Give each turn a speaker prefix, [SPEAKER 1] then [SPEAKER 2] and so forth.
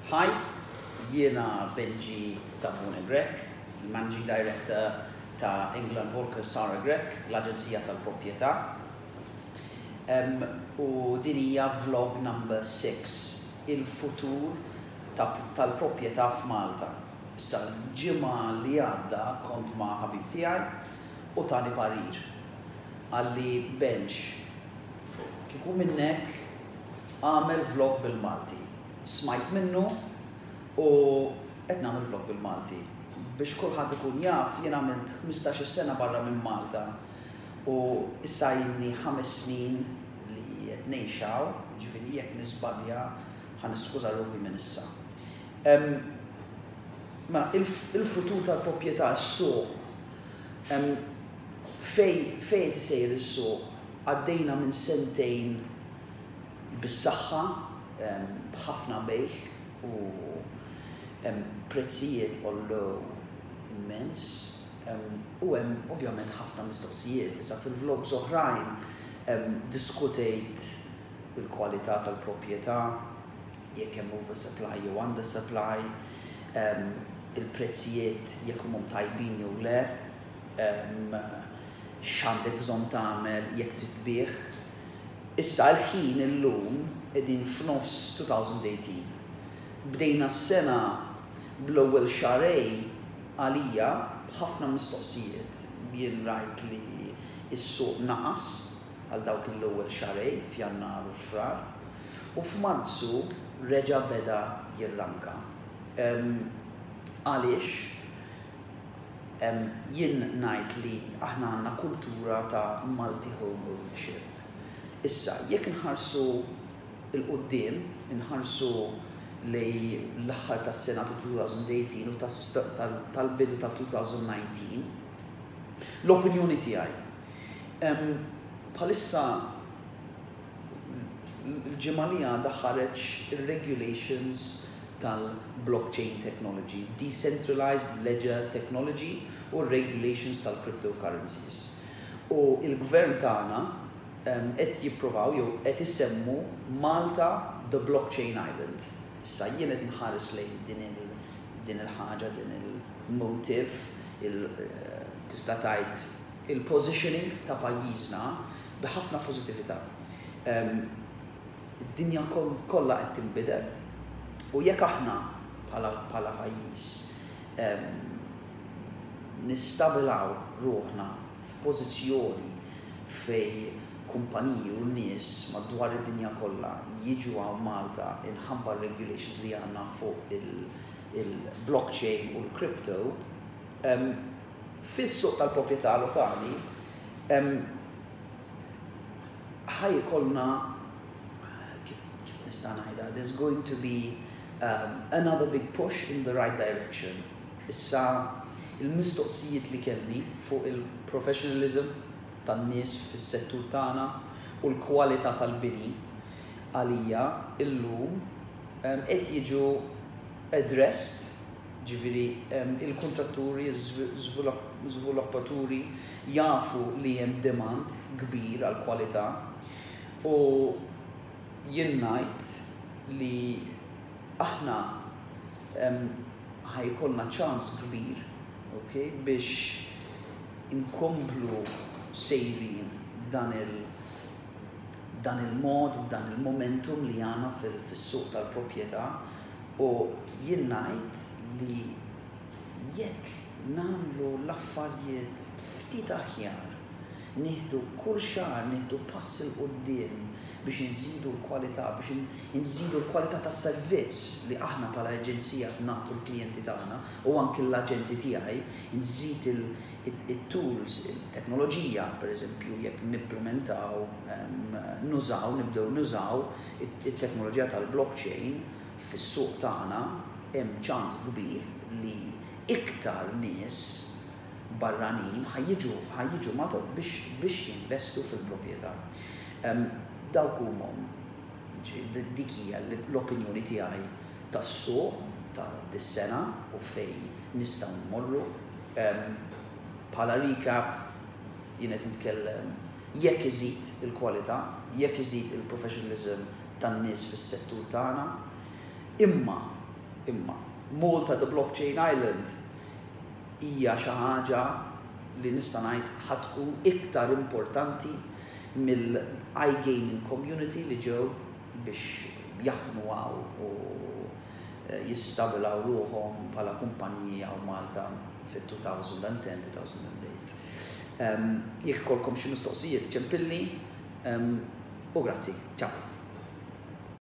[SPEAKER 1] Hi, jiena Benji Tabone Grech, il-Managing Director ta' England Volker Sara Grech, l-Aġenzija tal-Proprjetà. U din hija vlog number 6, il-futur tal-proprjetà f'Malta. Issa l-ġimgħa li għadda kont ma' ħabib tiegħi u tani parir. Qalli Benj, kieku minnek agħmel vlog bil-Malti. Smajt minnu u qed nagħmel vlog bil-Malti. Biex kulħadd ikun jaf, jien għamilt 15-il sena barra minn Malta u issa ilni 5 snin li qed ngħix hawn, jiġifieri jekk niżbalja ħa niskuża ruħi minn issa. Mela, il-futur tal-proprjetà, is-suq, fejn fejn qed isejjer is-suq? Għaddejna minn sentejn bis-saħħa, b'ħafna bejgħ u prezzijiet għollew immens u hemm ovvjament ħafna mistoqsijiet. Issa fil-vlogs oħrajn diskutejt il-kwalità tal-proprjetà, jekk hemm oversupply jew undersupply, il-prezzijiet jekk humhom tajbin jew le, x'għandek bżonn tagħmel jekk trid tbigħ. Issa l-ħin illum qegħdin f'nofs 2018. Bdejna s-sena bl-ewwel xahrejn għalija b'ħafna mistoqsijiet. Jien rajt li s-suq naqas għal dawk l-ewwel xahrejn f'Jannar u Frar u f'Marzu reġa' beda jirranka. Għaliex? Jien ngħid li aħna għandna kultura ta' multi home ownership. Issa, jekk inħarsu 'l quddiem, inħarsu lejn l-aħħar tas-sena ta' 2018 u tal-bidu ta' 2019, l-opinjoni tiegħi, bħalissa l-ġimgħa li għadha ħareġ ir-regulations tal-blockchain technology, decentralized ledger technology u r-regulations tal-cryptocurrencies. U l-gvern tagħna qed jipprovaw jew qed isemmu Malta the blockchain island. Issa jien qed nħares lejn din il din il-ħaġa, din il-motive, il tista' tgħid il-positioning ta' pajjiżna bi ħafna pożittività. Id-dinja kollha qed tinbidel u jekk aħna bħala bħala pajjiż nistabilaw ruħna f'pożizzjoni fejn kumpaniji u nies madwar id-dinja kollha jiġu hawn Malta inħabba r-regulations li għandna fuq il-blockchain u l-crypto, fis-suq tal-proprjetà lokali ħa jkollna, kif kif nista' ngħidha, there's going to be another big push in the right direction. Issa il-mistoqsijiet li kelli fuq il-professionalism tan-nies fis-settur tagħna u l-kwalità tal-bini għalija illum qed jiġu addressed. Ġifieri il-kuntratturi, iż-żviluppaturi jafu li hemm demand kbir għall-kwalità u jien ngħid li aħna ħa jkollna ċans kbir, ok, biex inkomplu sejrin b'dan il dan il-mod, b'dan il-momentum li għandna fis-suq tal-proprjetà. U jien ngħid li jekk nagħmlu l-affarjiet ftit aħjar, nieħdu kull xahar nieħdu pass 'il quddiem biex inżidu l-kwalità, biex inżidu l-kwalità tas-servizz li aħna bħala aġenzija qed nagħtu l-klijenti tagħna u anki l-aġenti tiegħi, inżid it-tools, it-teknoloġija, pereżempju jekk nimplimentaw, nużaw, nibdew nużaw it-teknoloġija tal-blockchain fis-suq tagħna, hemm ċans kbir li iktar nies barranin ħa jiġu ħa jiġu Malta biex biex jinvestu fil-proprjetà. Dawk huma dik hija l-opinjoni tiegħi tas-suq ta' dis-sena u fejn nistgħu mmorru. Bħala recap jien qed nitkellem jekk iżid il-kwalità, jekk iżid il-professionalism tan-nies fis-settur tagħna, imma. Imma Malta the Blockchain Island hija xi ħaġa li nista' ngħid ħa tkun iktar importanti mill-iGaming community li ġew biex jaħdmu hawn u jistabilaw ruħhom bħala kumpaniji hawn Malta fit-2010-2008. Jekk ikollkom xi mistoqsijiet, ċempilli u grazzi. Ciao.